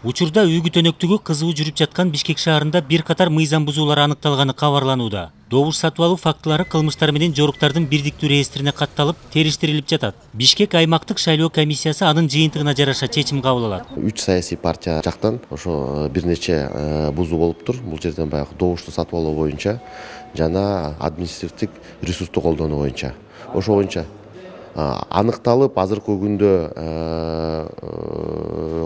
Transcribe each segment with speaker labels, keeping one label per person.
Speaker 1: Учурда үйгү төнөктүгү кызуу жүрүп жаткан Бишкек шаарында бир катар мыйзам бузуулар аныкталганы кабарланууда. Добуш сатып алуу фактылары кылмыштар менен жоруктардын бирдиктүү реестрине катталып, териштирилип жатат. Бишкек аймактык шайлоо комиссиясы анын жыйынтыгына жараша чечим кабыл алат.
Speaker 2: 3 саясий партия жактан ошо бир нече бузуу болуптур. Бул жерден баягы добушту сатып алуу боюнча жана административдик ресурсту колдонуу боюнча. Ошо боюнча аныкталып, азыркы күндө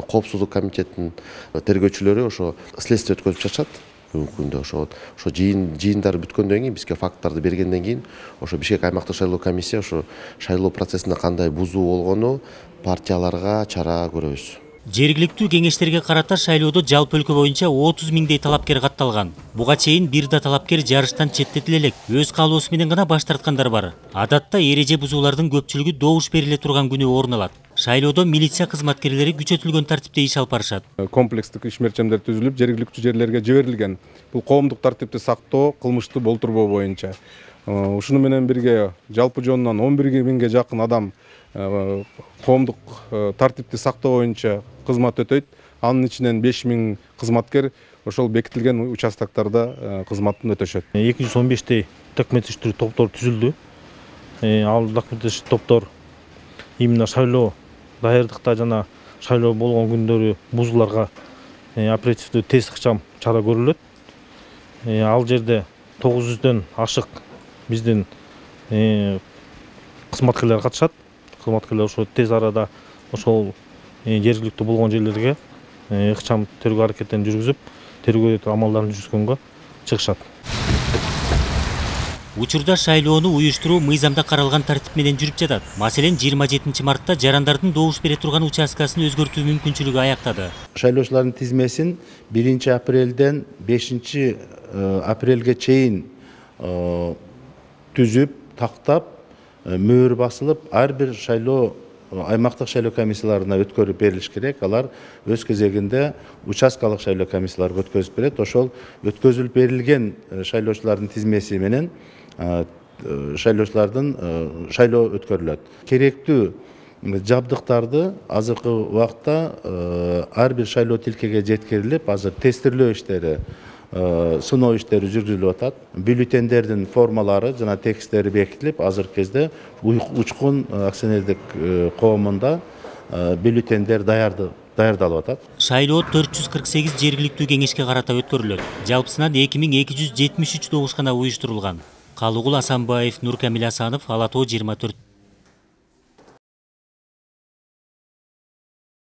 Speaker 2: коопсуздук комитетинин тергөөчүлөрү ошо следствие өткөзүп жатышат. Бүгүнкү күндө ошо жыйындар бүткөндөн кийин, бизге факттарды бергенден кийин, ошо Бишкек аймактык шайлоо комиссия ошо шайлоо процессинде кандай бузуу болгону партияларга чара көрөбүз.
Speaker 1: Жергиликтүү кеңештерге карата шайлоодо жалпы өлкө боюнча 30 миңдей талапкер катталган. Буга чейин бир да талапкер жарыштан четтетиле элек, өз каалоосу менен гана баш тарткандар бар. Адатта эреже бузуулардын көпчүлүгү добуш бериле турган күнү орун алат. Шайлоодо милиция кызматкерлери күчөтүлгөн тартипте иш алып барышат.
Speaker 3: Комплекстик иш мерчемдер түзүлүп, жергиликтүү жерлерге жиберилген. Бул коомдук тартипти сактоо, кылмышты болтурбоо боюнча. Ушуну менен бирге жалпы жонунан 11 миңге жакын адам коомдук тартипти сактоо боюнча кызмат өтөйт. Анын ичинен 5 миң кызматкер ошол бекитилген участоктарда кызматын өтөшөт.
Speaker 4: 215 документ топтор түзүлдү. Ал документ топтор именно шайлоо даярдыкта жана шайлоо болгон күндөрү бузууларга оперативдүү тез ыкчам чара көрүлөт. Ал жерде 900дөн ашык биздин кызматкерлер катышат. Кызматкерлер ошо тез арада ошол жергиликтүү болгон жерлерге ыкчам тергөө аракеттерин жүргүзүп, тергөө амалдарын жүргүзгөнгө чыгышат.
Speaker 1: Учурда шайлоону уюштуруу мыйзамда каралган тартип менен жүрүп жатат. Маселен, 27 мартта жарандардын добуш бере турган участкасын өзгөртүү мүмкүнчүлүгү аяктады.
Speaker 5: Шайлоочулардын тизмесин 1 апрелден 5 апрелге чейин түзүп, тактап, мөөр басылып, ар бир шайлоо аймактык шайлоо комиссияларына өткөрүп берилиш керек. Алар өз кезегинде участкалык шайлоо комиссияларга өткөзүп берет. Ошол өткөзүлүп берилген шайлоочулардын тизмеси менен шайлоочулардын шайлоо өткөрүлөт. Керектүү жабдыктарды азыркы убакта ар бир шайлоо тилкеге жеткирилип, азыр тестирлөө иштери, сыноо иштери жүргүзүлүп атат. Бюллетендердин формалары жана тексттери бекитилип, азыркы кезде Учкун акционердик коомунда бюллетендер даярдалып атат.
Speaker 1: Шайлоо 448 жергиликтүү кеңешке карата өткөрүлөт. Жалпысынан 2273 добуш гана уюштурулган. Калыгул Асанбаев, Нуркамил Асанов, Ала Тоо 24.